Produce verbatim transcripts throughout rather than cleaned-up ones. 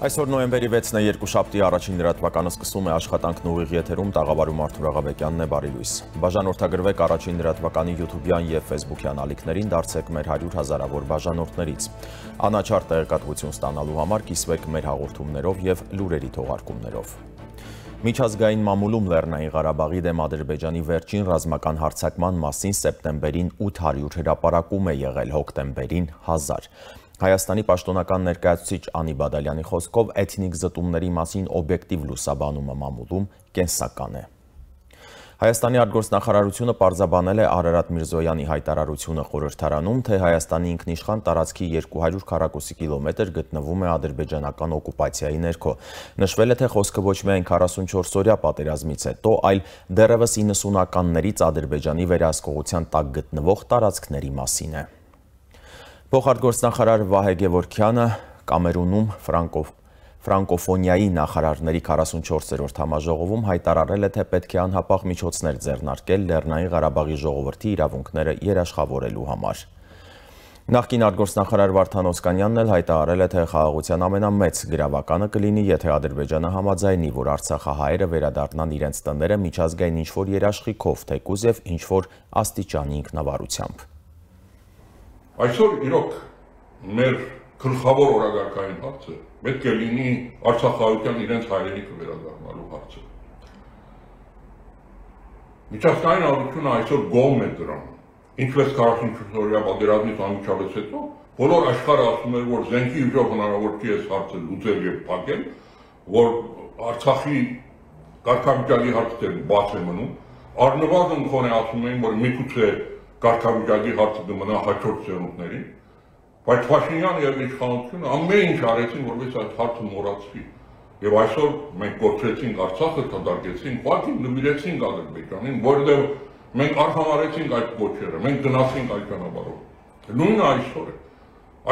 Այսօր նոյեմբերի վեցն է, երկուշաբթի առաջին լրատվականը սկսում է աշխատանքն ուղիղ եթերում, տաղավարում Արթուր Աղաբեկյանն է, բարի լույս։ Բաժանորդագրվեք առաջին լրատվականի յութուբյան եւ ֆեյսբուքյան ալիքներին, դարձեք մեր հարյուր հազարավոր բաժանորդներից։ Անաչառ տեղեկատվություն ստանալու համար կիսվեք մեր հաղորդումներով եւ լուրերի թողարկումներով։ Միջազգային մամուլում Լեռնային Ղարաբաղի դեմ Ադրբեջանի վերջին ռազմական հարձակման մասին սեպտեմբերին ութ հարյուր հրապարակում է եղել, հոկտեմբերին հազար։ Հայաստանի պաշտոնական ներկայացուցիչ Անի Բադալյանի խոսքով էթնիկ զտումների մասին օբյեկտիվ լուսաբանումը մամուլում կենսական է։ Հայաստանի արտգործնախարարությունը պարզաբանել է Արարատ Միրզոյանի հայտարարությունը խորհրդարանում, թե Հայաստանի ինքնիշխան տարածքի երկու հարյուր քառակուսի կիլոմետր գտնվում է ադրբեջանական օկուպացիայի ներքո։ Նշվել է, թե խոսքը ոչ միայն քառասունչորս-օրյա պատերազմից հետո, այլ դեռևս իննսունականներից Ադրբեջանի վերահսկողության տակ գտնվող տարածքների մասին է։ Փոխարտգործնախարար Վահե Գևորգյանը Կամերունում ֆրանկով ֆրանկոֆոնիայի նախարարների քառասունչորսերորդ համաժողովում հայտարարել է, թե պետք է անհապաղ միջոցներ ձեռնարկել Լեռնային Ղարաբաղի ժողովրդի իրավունքները երաշխավորելու համար։ Նախկին արտգործնախարար Վարդան Օսկանյանն էլ հայտարարել է, թե խաղաղության ամենամեծ գրավականը կլինի, եթե Ադրբեջանը համաձայնի, որ արցախահայերը վերադառնան իրենց տները միջազգային ինչ-որ երաշխիքով, թեկուզ եւ ինչ-որ աստիճանի ինքնավարությամբ։ Այսօր իրոք մեր գլխավոր օրակարգային հարցը պետք է լինի արցախահայության իրենց հայրենիքը վերադառնալու հարցը։ Միջազգային հանրությունը այսօր գոհ է դրան, ինչպես քառասունչորս-օրյա պատերազմից անմիջապես հետո բոլոր աշխարհը ասում էր, որ զենքի ուժով հնարավոր չի այս հարցը լուծել եւ փակել, որ Արցախի կարգավիճակի հարցը բաց է մնում, առնվազն քոնե ասում էին, որ միգուցե կարգավիճակի հարցը կմնա հաջորդ սերունդներին, բայց Փաշինյանը եւ իշխանությունը ամեն ինչ արեցին, որպես այդ հարցը մոռացվի։ Եվ այսօր մենք կորցրեցինք Արցախը, կդարկեցինք, ուղղակի նվիրեցինք Ադրբեջանին, որովհետեւ մենք արհամարեցինք այդ կոչերը, մենք գնացինք այդ ճանապարհով։ Նույնը այսօր է։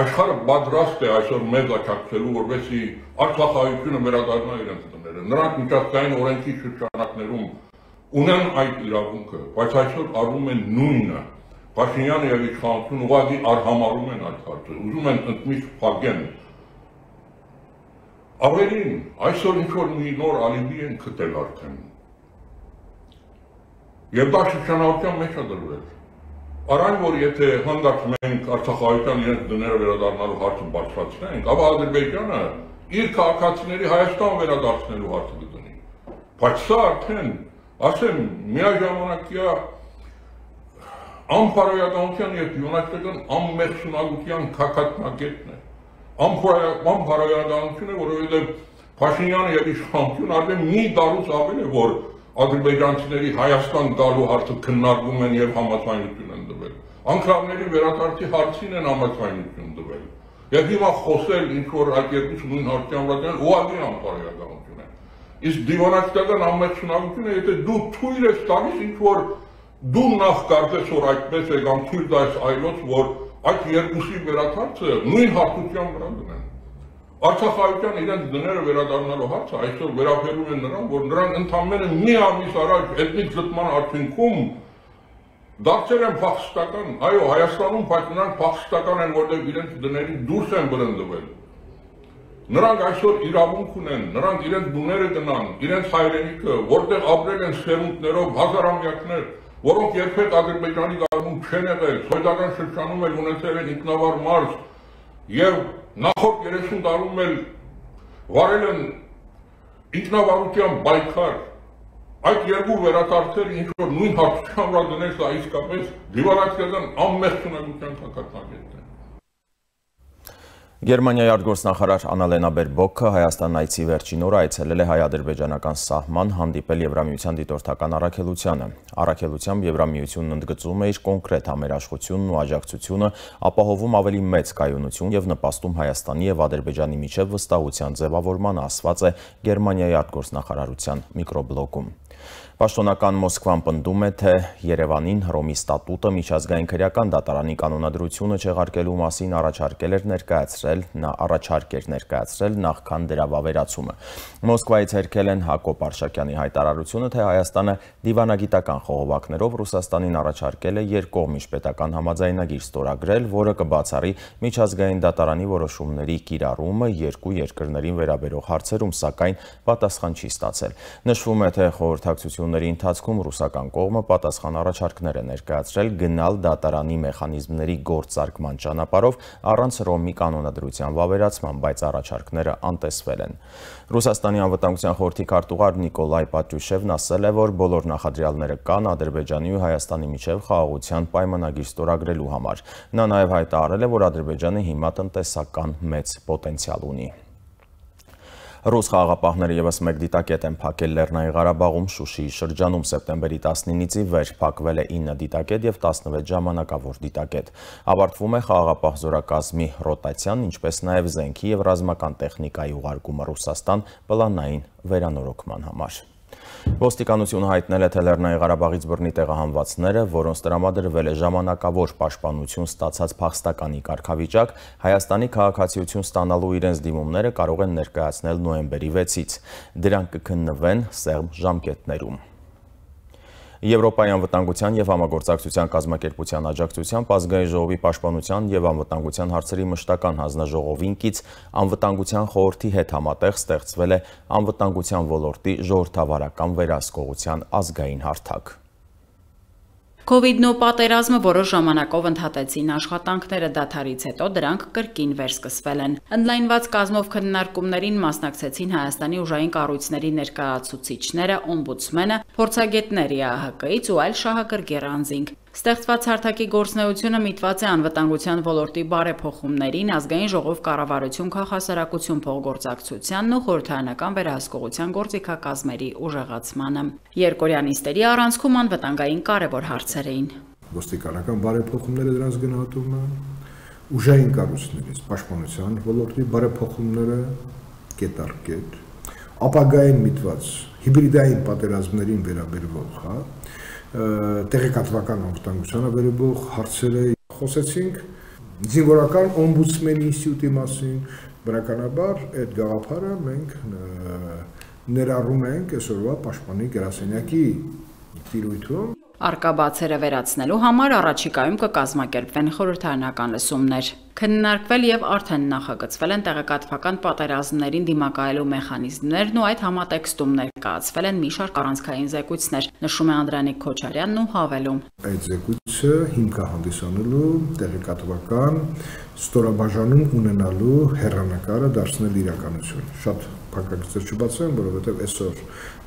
Աշխարհը պատրաստ է այսօր մեզ աջակցելու, որպեսզի արցախահայությունը վերադառնա իրենց տները։ Նրանք միջազգային օրենքի շրջանակներում ունեն այդ իրավունքը, բայց այսօր արվում է նույնը։ Փաշինյանը եւ իշխանությունը ուղղակի արհամարում են այդ հարցը, ուզում են ընդմիշտ փակեն։ Ավելին, այսօր ինչ-որ մի նոր ալիբի են գտել արդեն։ Եվ դա շրջանառության մեջ է դրվել։ Արայն, որ եթե հանդարտ մենք արցախահայության իրենց դները վերադառնալու հարցը բարձրացնենք, ապա Ադրբեջանը իր քաղաքացիների Հայաստան վերադարձնելու հարցը կդնի։ Բայց սա արդեն, ասեմ, միաժամանակյա անփարոյականության եւ յունաստական անմեղսունակության քակատնագետն է։ Անփարոյականություն է, որովհետեւ Փաշինյանը եւ իշխանությունը արդեն մի տարուց ավել է, որ ադրբեջանցիների Հայաստան գալու հարցը քննարկում են եւ համաձայնություն են տվել։ Անկրավների վերադարձի հարցին են համաձայնություն տվել։ Եվ հիմա խոսել ինչ որ այդ երկու նույն հարցի ամրացան ուղղակի անփարոյականություն է։ Իսկ դիվանագիտական անմեղսունակությունը, եթե դու թույլ ես տալիս ինչ որ դու նախ կարծես որ այդպես է կամ թույլ տալիս այլոց, որ այդ երկուսի վերադարձը նույն հարթության վրա դնեն։ Արցախահայության իրենց դները վերադառնալու հարցը այսօր վերաբերում են նրան, որ նրանք ընդամենը մի ամիս առաջ էթնիկ զտման արդյունքում դարձել են փախստական, այո, Հայաստանում, բայց նրանք փախստական են, որտեղ իրենց դներից դուրս են բռնկվել։ Նրանք այսօր իրավունք ունեն, նրանք իրենց դուները գնան, իրենց հայրենիքը, որտեղ ապրել են սերունդներով հազարամյակներ, որոնք երբեք Ադրբեջանի կարգում չեն եղել, սովետական շրջանում էլ ունեցել են ինքնավար մարզ եւ նախորդ երեսուն տարում էլ վարել են ինքնավարության պայքար։ Այդ երկու վերադարձերը ինչ որ նույն հարցության վրա դնել, սա իսկապես դիվանագիտական անմեղսունակության քակատնագետն է։ Գերմանիայի արտգործնախարար Աննալենա Բերբոքը Հայաստան այցի վերջին օրը այցելել է հայ-ադրբեջանական սահման, հանդիպել Եվրամիության դիտորդական առաքելությանը։ Առաքելությամբ Եվրամիությունն ընդգծում է իր կոնկրետ համերաշխությունն ու աջակցությունը, ապահովում ավելի մեծ կայունություն եւ նպաստում Հայաստանի եւ Ադրբեջանի միջև վստահության ձևավորմանը, ասված է Գերմանիայի արտգործնախարարության միկրոբլոգում։ Պաշտոնական Մոսկվան պնդում է, թե Երևանին Հռոմի ստատուտը միջազգային քրեական դատարանի կանոնադրությունը չեղարկելու մասին առաջարկել էր ներկայացրել ներկայացրել, նա առաջարկ էր ներկայացրել նախքան դրա վավերացումը։ Մոսկվայից հերքել են Հակոբ Արշակյանի հայտարարությունը, թե Հայաստանը դիվանագիտական խողովակներով Ռուսաստանին առաջարկել է երկկողմ միջպետական համաձայնագիր ստորագրել, որը կբացառի միջազգային դատարանի որոշումների կիրառումը երկու երկրներին վերաբերող հարցերում, սակայն պատասխան չի ստացել։ Նշվում է, թե խորհրդակցությունների ընթացքում ռուսական կողմը պատասխան առաջարկներ է ներկայացրել գնալ դատարանի մեխանիզմների գործարկման ճանապարհով առանց Ռոմի կանոնադրության վավերացման, բայց առաջարկները անտեսվել են։ Ռուսաստանի անվտանգության խորհրդի քարտուղար Նիկոլայ Պատրյուշևն ասել է, որ բոլոր նախադրյալները կան Ադրբեջանի ու Հայաստանի միջև խաղաղության պայմանագիր ստորագրելու համար։ Նա նաև հայտարարել է, որ Ադրբեջանը հիմա տնտեսական մեծ պոտենցիալ ունի։ Ռուս խաղաղապահները ևս մեկ դիտակետ են փակել Լեռնային Ղարաբաղում Շուշիի շրջանում սեպտեմբերի տասնինից ի վեր փակվել է ինը դիտակետ եւ տասնվեց ժամանակավոր դիտակետ։ Ավարտվում է խաղաղապահ զորակազմի ռոտացիան, ինչպես նաև զենքի եւ ռազմական տեխնիկայի ուղարկումը Ռուսաստան պլանային վերանորոգման համար։ Ոստիկանությունը հայտնել է, թե Լեռնային Ղարաբաղից բռնի տեղահանվածները, որոնց տրամադրվել է ժամանակավոր պաշտպանություն ստացած փախստականի կարգավիճակ, Հայաստանի քաղաքացիություն ստանալու իրենց դիմումները կարող են ներկայացնել նոյեմբերի վեցից։ Դրանք կքննվեն սեղմ ժամկետներում։ Եվրոպայի անվտանգության և համագործակցության կազմակերպության աջակցությամբ Ազգային ժողովի պաշտպանության և անվտանգության հարցերի մշտական հանձնաժողովին կից անվտանգության խորհրդի հետ համատեղ ստեղծվել է անվտանգության ոլորտի ժողովրդավարական վերահսկողության ազգային հարթակ։ Քովիդն ու պատերազմը որոշ ժամանակով ընդհատեցին աշխատանքները, դադարից հետո դրանք կրկին վերսկսվել են։ Ընդլայնված կազմով քննարկումներին մասնակցեցին Հայաստանի ուժային կառույցների ներկայացուցիչները, օմբուդսմենը, փորձագետներ Է Ա Հ Կից ու այլ շահագրգիռ անձինք։ Ստեղծված հարթակի գործունեությունը միտված է անվտանգության ոլորտի բարեփոխումներին, ազգային ժողով կառավարություն քաղաքասարակություն փոխգործակցությանն ու խորհրդարանական վերահսկողության գործիքակազմերի ուժեղացմանը։ Երկօրյա նիստերի առանցքում անվտանգային կարևոր հարցեր էին։ Ոստիկանական բարեփոխումները դրանց գնահատումը, ուժային կառույցներից պաշտպանության ոլորտի բարեփոխումները կետ առ կետ, ապագային միտված հիբրիդային պատերազմներին վերաբերող, հա, տեղեկատվական անվտանգությանը վերաբերող հարցերը խոսեցինք, զինվորական օմբուդսմենի ինստիտուտի մասին, բնականաբար այդ գաղափարը մենք ներառում ենք այսօրվա պաշտպանի գրասենյակի տիրույթում։ Առկա բացերը վերացնելու համար առաջիկայում կկազմակերպվեն խորհրդարանական լսումներ։ Քննարկվել եւ արդեն նախագծվել են տեղեկատվական պատերազմներին դիմակայելու մեխանիզմներն ու այդ համատեքստում ներկայացվել են մի շարք առանցքային զեկույցներ, նշում է Անդրանիկ Քոչարյանն ու հավելում։ Այդ զեկույցը հիմք է հանդիսանելու տեղեկատվական ստորաբաժանում ունենալու հեռանկարը դարձնել իրականություն։ Շատ փակագծեր չբացեմ, որովհետև այսօր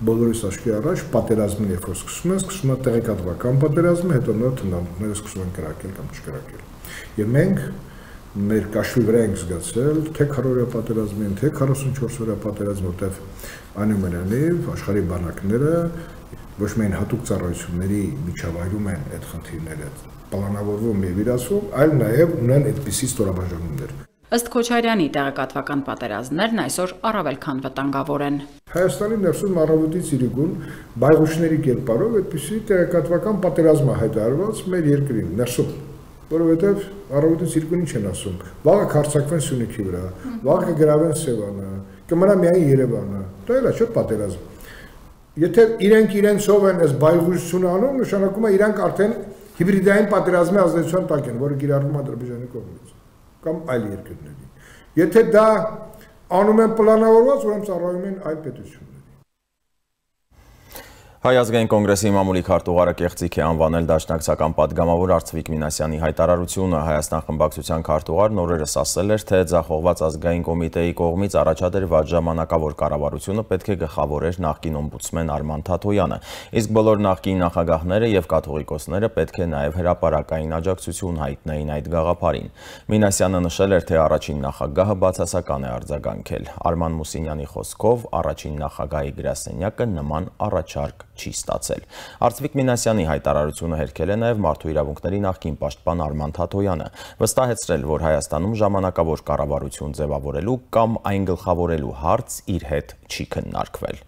բոլորիս աչքի առաջ պատերազմին երբ որ սկսում են, սկսում է տեղեկատվական պատերազմը, հետո նոր թնդանքները սկսում են կրակել կամ չկրակել։ Եվ մենք մեր կաշվի վրա ենք զգացել թե քառօրյա պատերազմին, թե քառասունչորս օրյա պատերազմ, որտեղ այնուամենայնիվ աշխարհի բանակները ոչ միայն հատուկ ծառայությունների միջավայրում են այդ խնդիրները պլանավորվում եւ իրացվում, այլ նաեւ ունեն այդպիսի ստորաբաժանումներ։ Ըստ Քոչարյանի տեղեկատվական պատերազմներն այսօր առավել քան վտանգավոր են։ Հայաստանի ներսում առավոտից իրիկուն բայղուշների կերպարով այդպիսի տեղեկատվական պատերազմ է հայտարարված մեր երկրին ներսում, որովհետև առավոտից իրիկուն ինչ են ասում, վաղը կհարձակվեն Սյունիքի վրա, վաղը կգրավեն Սևանը, կմնա միայն Երևանը, դա էլ է չէ պատերազմ։ Եթե իրենք իրենցով են այս բայղուշությունը անում, նշանակում է իրանք արդեն հիբրիդային պատերազմի ազդեցության տակ են, որը կիրառվում է Ադրբեջանի կողմից կամ այլ երկրների։ Եթե դա անում են պլանավորված, ուրեմն ծառայում են այլ պետությունների։ Հայ ազգային կոնգրեսի մամուլի քարտուղարը կեղծիք է անվանել դաշնակցական պատգամավոր Արծվիկ Մինասյանի հայտարարությունը։ Հայաստան խմբակցության քարտուղարն օրերս ասել էր, թե ձախողված ազգային կոմիտեի կողմից առաջադրված ժամանակավոր կառավարությունը պետք է գլխավորեր նախկին օմբուդսմեն Արման Թաթոյանը, իսկ բոլոր նախկին նախագահները եւ կաթողիկոսները պետք է նաեւ հրապարակային աջակցություն հայտնեին այդ գաղափարին։ Մինասյանը նշել էր, թե առաջին նախագահը բացասական է արձագանքել։ Արման Մուսինյանի խոսքով առաջին նախագահի գրասենյակը նման առաջարկ չի ստացել։ Արծվիկ Մինասյանի հայտարարությունը հերքել է նաև մարդու իրավունքների նախկին պաշտպան Արման Թաթոյանը, վստահեցրել, որ Հայաստանում ժամանակավոր կառավարություն ձևավորելու կամ այն գլխավորելու հարց իր հետ չի քննարկվել։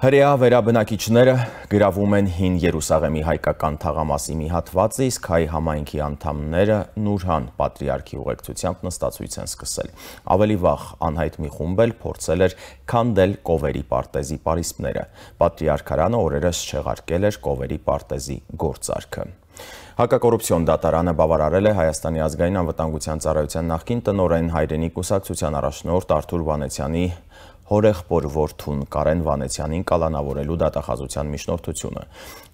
Հրեա վերաբնակիչները գրավում են Հին Երուսաղեմի հայկական թաղամասի մի հատվածը, իսկ հայ համայնքի անդամները Նուրհան պատրիարքի ուղեկցությամբ նստացույց են սկսել։ Ավելի վաղ անհայտ մի խումբ էլ փորձել էր քանդել Կովերի պարտեզի պարիսպները։ Պատրիարքարանը օրերս չեղարկել էր Կովերի պարտեզի գործարքը։ Հակակոռուպցիոն դատարանը բավարարել է Հայաստանի ազգային անվտանգության ծառայության նախկին տնօրեն հայրենի կուսակցության առաջնորդ Արթուր Վանեցյանի հորեղբոր որդուն Կարեն Վանեցյանին կալանավորելու դատախազության միջնորդությունը։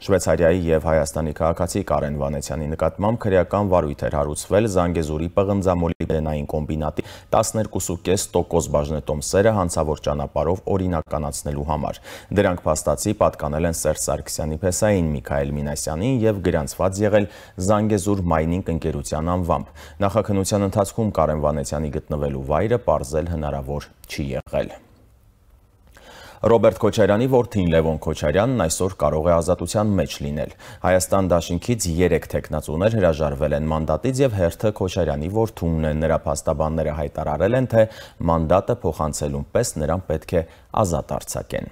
Շվեյցարիայի եւ Հայաստանի քաղաքացի Կարեն Վանեցյանի նկատմամբ քրեական վարույթ էր հարուցվել Զանգեզուրի պղնձամոլիբդենային կոմբինատի տասներկու կես տոկոս բաժնետոմսերը հանցավոր ճանապարհով օրինականացնելու համար։ Դրանք փաստացի պատկանել են Սերժ Սարգսյանի փեսային Միքայել Մինասյանին եւ գրանցված եղել Զանգեզուր Մայնինգ ընկերության անվամբ։ Նախաքննության ընթացքում Կարեն Վանեցյանի գտնվելու վայրը պարզել հնարավոր չի եղել։ Ռոբերտ Քոչարյանի որդին Լևոն Քոչարյանն այսօր կարող է ազատության մեջ լինել։ Հայաստան դաշինքից երեք թեկնածուներ հրաժարվել են մանդատից եւ հերթը Քոչարյանի որդունն է։ Նրա փաստաբանները հայտարարել են, թե մանդատը փոխանցելուն պես նրան պետք է ազատ արձակեն։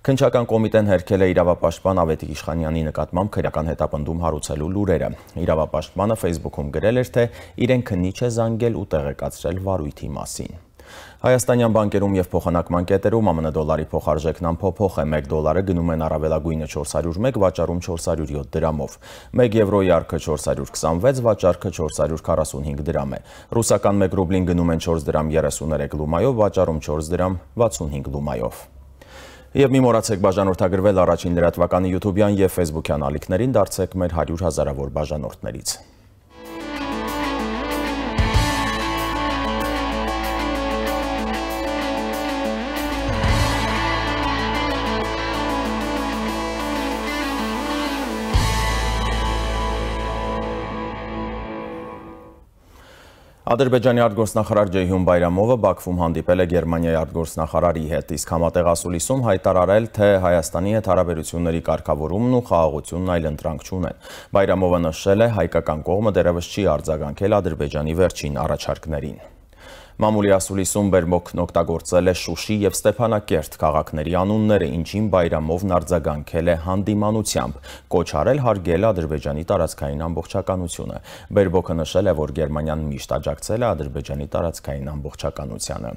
Քննչական կոմիտեն հերքել է իրավապաշտպան Ավետիք Իշխանյանի նկատմամբ քրեական հետապնդում հարուցելու լուրերը։ Իրավապաշտպանը Facebook-ում գրել էր, թե իրեն քննիչ է զանգել ու տեղեկացրել վարույթի մասին։ Հայաստանյան բանկերում եւ փոխանակման կետերում ԱՄՆ դոլարի փոխարժեքն անփոփոխ է, մեկ դոլարը գնում են առավելագույնը չորս հարյուր մեկ, վաճառում չորս հարյուր յոթ դրամով։ մեկ եվրոյի արքը չորս հարյուր քսանվեց, վաճառքը չորս հարյուր քառասունհինգ դրամ է։ Ռուսական մեկ ռուբլին գնում են չորս դրամ երեսուներեք լումայով, վաճառում չորս դրամ վաթսունհինգ լումայով։ Եվ մի մոռացեք բաժանորդագրվել առաջին լրատվականի YouTube-յան եւ Facebook-յան ալիքներին, դարձեք մեր հարյուր հազարավոր բաժանորդներից։ Ադրբեջանի արտգործնախարար Ջեյհուն Բայրամովը Բաքվում հանդիպել է Գերմանիայի արտգործնախարարի հետ, իսկ համատեղ ասուլիսում հայտարարել, թե Հայաստանի հետ հարաբերությունների կարգավորումն ու խաղաղությունն այլընտրանք չունեն։ Բայրամովը նշել է, հայկական կողմը դեռևս չի արձագանքել Ադրբեջանի վերջին առաջարկներին։ Մամուլի ասուլիսում բերմոքն օգտագործել է Շուշի եւ Ստեփանակերտ քաղաքների անունները, ինչին Բայրամովն արձագանքել է հանդիմանությամբ, կոչ արել հարգել Ադրբեջանի տարածքային ամբողջականությունը։ Բերբոքը նշել է, որ Գերմանիան միշտ աջակցել է Ադրբեջանի տարածքային ամբողջականությանը։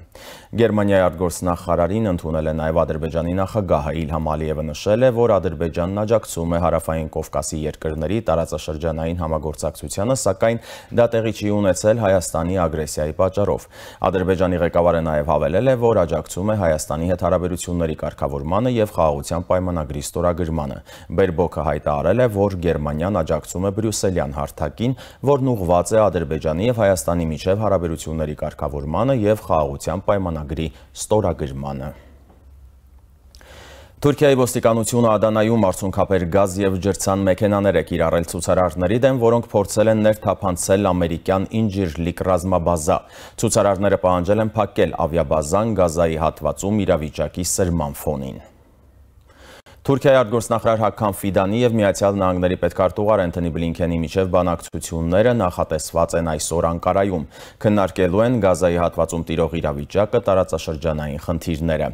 Գերմանիայի արտգործնախարարին ընդունել է նաեւ Ադրբեջանի նախագահը Իլհամ Ալիևը նշել է, որ Ադրբեջանն աջակցում է Հարավային Կովկասի երկրների տարածաշրջանային համագործակցությանը, սակայն դա տեղի չի ունեցել Հայաստանի ագրեսիայի պատճառով։ Ադրբեջանի ղեկավարը նաև հավելել է, որ աջակցում է Հայաստանի հետ հարաբերությունների կարգավորմանը եւ խաղաղության պայմանագրի ստորագրմանը։ Բերբոքը հայտարարել է, որ Գերմանիան աջակցում է բրյուսելյան հարթակին, որն ուղղված է Ադրբեջանի եւ Հայաստանի միջև հարաբերությունների կարգավորմանը եւ խաղաղության պայմանագրի ստորագրմանը։ Թուրքիայի ոստիկանությունը Ադանայում արցունքաբեր գազ եւ ջրցան մեքենաներ է կիրառել ցուցարարների դեմ, որոնք փորձել են ներթափանցել ամերիկյան Ինջիրլիկ ռազմաբազա։ Ցուցարարները պահանջել են փակել ավիաբազան Գազայի հատվածում իրավիճակի սրման ֆոնին։ Թուրքիայի արտգործնախարար Հաքամ Ֆիդանի եւ Միացյալ Նահանգների պետքարտուղար Անթոնի Բլինքենի միջև բանակցությունները նախատեսված են այսօր Անկարայում։ Քննարկելու են Գազայի հատվածում տիրող իրավիճակը, տարածաշրջանային խնդիրները։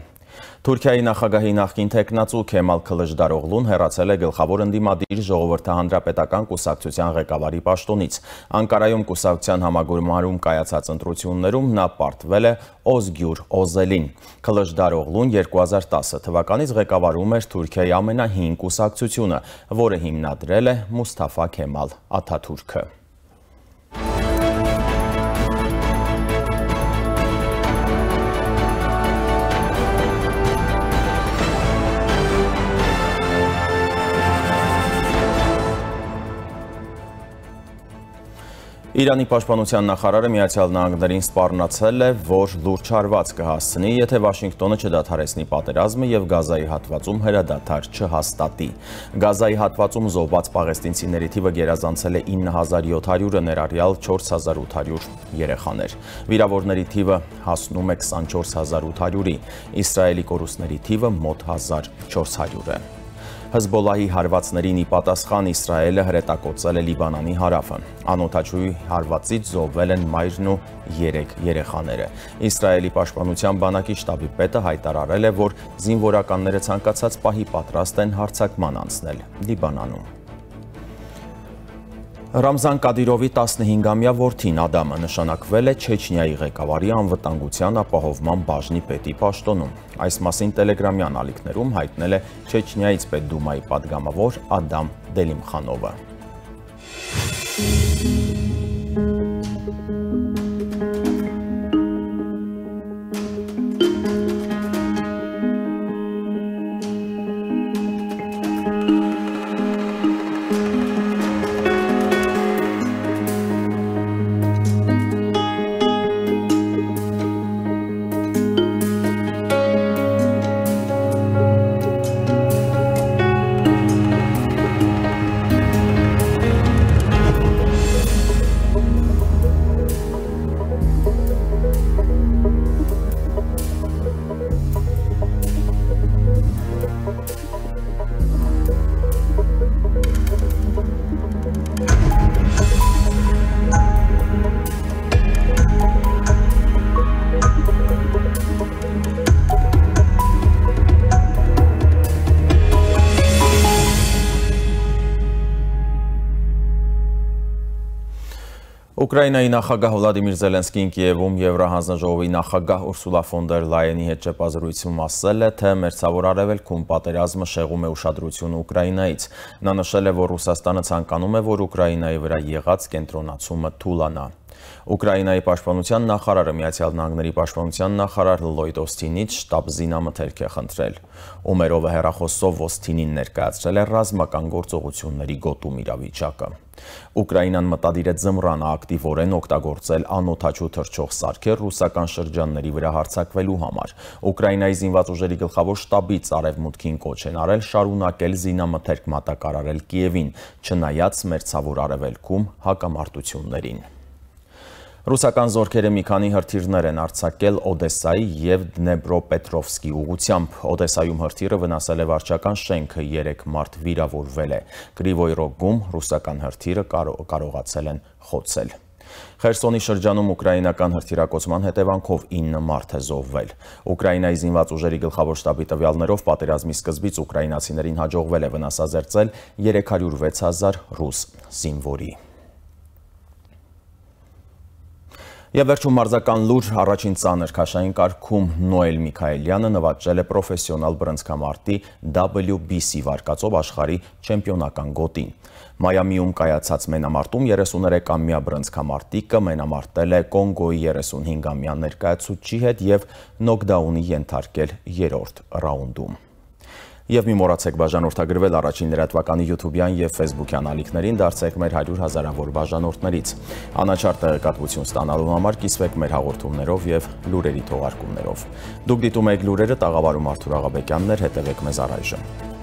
Թուրքիայի նախագահի նախկին թեկնածու Քեմալ Քլիչդարօղլուն հեռացել է գլխավոր ընդդիմադիր ժողովրդահանրապետական կուսակցության ղեկավարի պաշտոնից։ Անկարայում կուսակցության համագումարում կայացած ընտրություններում նա պարտվել է Օզգյուր Օզելին։ Քլիչդարօղլուն երկու հազար տասը թվականից ղեկավարում էր Թուրքիայի ամենահին կուսակցությունը, որը հիմնադրել է Մուսթաֆա Քեմալ Աթաթուրքը։ Իրանի պաշտպանության նախարարը Միացյալ Նահանգներին սպառնացել է, որ լուրջ հարված կհասցնի, եթե Վաշինգտոնը չդադարեցնի պատերազմը եւ Գազայի հատվածում հրադադար չհաստատի։ Գազայի հատվածում զոհված պաղեստինցիների թիվը գերազանցել է ինը հազար յոթ հարյուրը, ներառյալ չորս հազար ութ հարյուր երեխաներ։ Վիրավորների թիվը հասնում է քսանչորս հազար ութ հարյուրի, Իսրայելի կորուստների թիվը մոտ հազար չորս հարյուր է։ Հեզբոլլահի հարվածներին ի պատասխան Իսրայելը հրետակոծել է Լիբանանի հարավը։ Անօդաչուի հարվածից զոհվել են մայրն ու երեք երեխաները։ Իսրայելի պաշտպանության բանակի շտաբի պետը հայտարարել է, որ զինվորականները ցանկացած պահի պատրաստ են հարձակման անցնել Լիբանանում։ Ռամզան Կադիրովի տասնհինգամյա որդին Ադամը նշանակվել է Չեչնիայի ղեկավարի անվտանգության ապահովման բաժնի պետի պաշտոնում։ Այս մասին տելեգրամյան ալիքներում հայտնել է Չեչնիայից պետդումայի պատգամավոր Ադամ Դելիմխանովը։ Ուկրաինայի նախագահ Վլադիմիր Զելենսկին Կիևում Եվրահանձնաժողովի նախագահ Ուրսուլա ֆոն դեր Լայենի հետ ճեպազրույցում ասել է, թե Մերձավոր Արևելքում պատերազմը շեղում է ուշադրությունը Ուկրաինայից։ Նա նշել է, որ Ռուսաստանը ցանկանում է, որ Ուկրաինայի վրա եղած կենտրոնացումը թուլանա։ Ուկրաինայի պաշտպանության նախարարը Միացյալ Նահանգների պաշտպանության նախարար Լլոյդ Օսթինից շտաբ զինամթերք է խնդրել։ Ումերովը հեռախոսով Օսթինին ներկայացրել է ռազմական գործողությունների գոտում իրավիճակը։ Ուկրաինան մտադիր է ձմռանը ակտիվորեն օգտագործել անօդաչու թռչող սարքեր ռուսական շրջանների վրա հարձակվելու համար։ Ուկրաինայի զինված ուժերի գլխավոր շտաբից արևմուտքին կոչ են արել շարունակել զինամթերք մատակարարել Կիևին, չնայած Մերձավոր Արևելքում հակամարտություններին։ Ռուսական զորքերը մի քանի հրթիռներ են արձակել Օդեսայի և Դնեպրոպետրովսկի ուղղությամբ։ Օդեսայում հրթիռը վնասել է վարչական շենքը, երեք մարդ վիրավորվել է։ Կրիվոյ Ռոգում ռուսական հրթիռը կարողացել են խոցել։ Խերսոնի շրջանում ուկրաինական հրթիռակոծման հետևանքով ինը մարդ է զոհվել։ Ուկրաինայի զինված ուժերի գլխավոր շտաբի տվյալներով պատերազմի սկզբից ուկրաինացիներին հաջողվել է վնասազերծել երեք հարյուր վեց հազար ռուս զինվորի։ Եվ վերջում մարզական լուր, առաջին ծանր քաշային կարգում Նոել Միքայելյանը նվաճել է պրոֆեսիոնալ բռնցքամարտի դաբլյու բի սի վարկածով աշխարհի չեմպիոնական գոտին։ Մայամիում կայացած մենամարտում երեսուներեքամյա բռնցքամարտիկը մենամարտել է Կոնգոյի երեսունհինգամյա ներկայացուցչի հետ և նոկդաունի ենթարկել երրորդ ռաունդում։ Եվ մի մոռացեք բաժանորդագրվել առաջին լրատվականի յութուբյան և ֆեյսբուքյան ալիքներին, դարձեք մեր հարյուր հազարավոր բաժանորդներից։ Անաչառ տեղեկատվություն ստանալու համար կիսվեք մեր հաղորդումներով և լուրերի թողարկումներով։ Դուք դիտում եք լուրերը, տաղավարում Արթուր Աղաբեկյանն էր, հետևեք մեզ առայժմ։